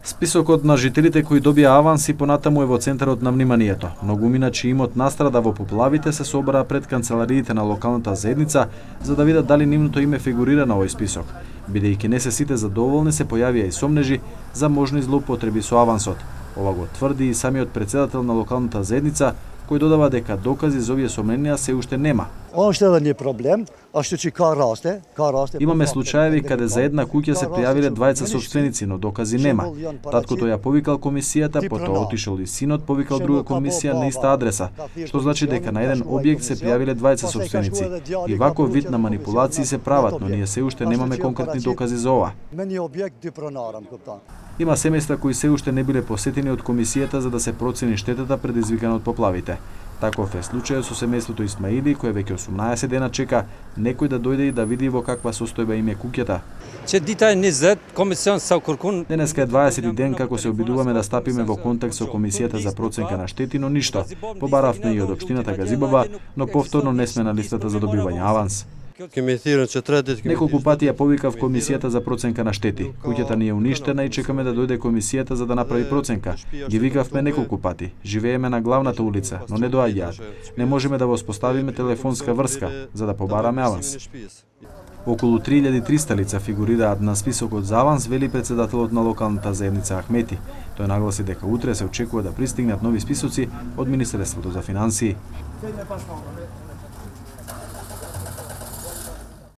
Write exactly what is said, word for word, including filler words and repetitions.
Списокот на жителите кои добија аванс и понатаму е во центарот на вниманието. Многумина чиј имот настрада во поплавите се собраа пред канцелариите на локалната заедница за да видат дали нивното име фигурира на овој список. Бидејќи не се сите задоволни, се појавија и сомнежи за можни злоупотреби со авансот. Ова го тврди и самиот председател на локалната заедница, кој додава дека докази за овие сомненија се уште нема. проблем, а што ќе ка расте, ка расте. Имаме случаеви каде за една куќа се пријавиле двајца собственици, но докази нема. Таткото ја повикал комисијата, потоа отишол и синот повикал друга комисија на иста адреса, што значи дека на еден објект се пријавиле двајца собственици. И ваков вид на манипулации се прават, но ние се уште немаме конкретни докази за ова. Има семејства кои се уште не биле посетени од комисијата за да се процени штетата предизвикана од поплавите. Таков е случајот со семејството Исмаили, кое веќе осумнаесет дена чека некој да дојде и да види во каква состојба им е куќата. Денеска е дваесети ден како се обидуваме да стапиме во контакт со комисијата за проценка на штети, но ништо. Побаравме и од општината Газибаба, но повторно не сме на листата за добивање аванс. Неколку пати ја повикав комисијата за проценка на штети. Куќата ни е уништена и чекаме да дојде комисијата за да направи проценка. Ги викавме неколку пати. Живееме на главната улица, но не доаѓаат. Не можеме да воспоставиме телефонска врска за да побараме аванс. Околу три илјади и триста лица фигурираат на списокот за аванс, вели председателот на локалната заедница Ахмети. Тој нагласи дека утре се очекува да пристигнат нови списоци од Министерството за финансии.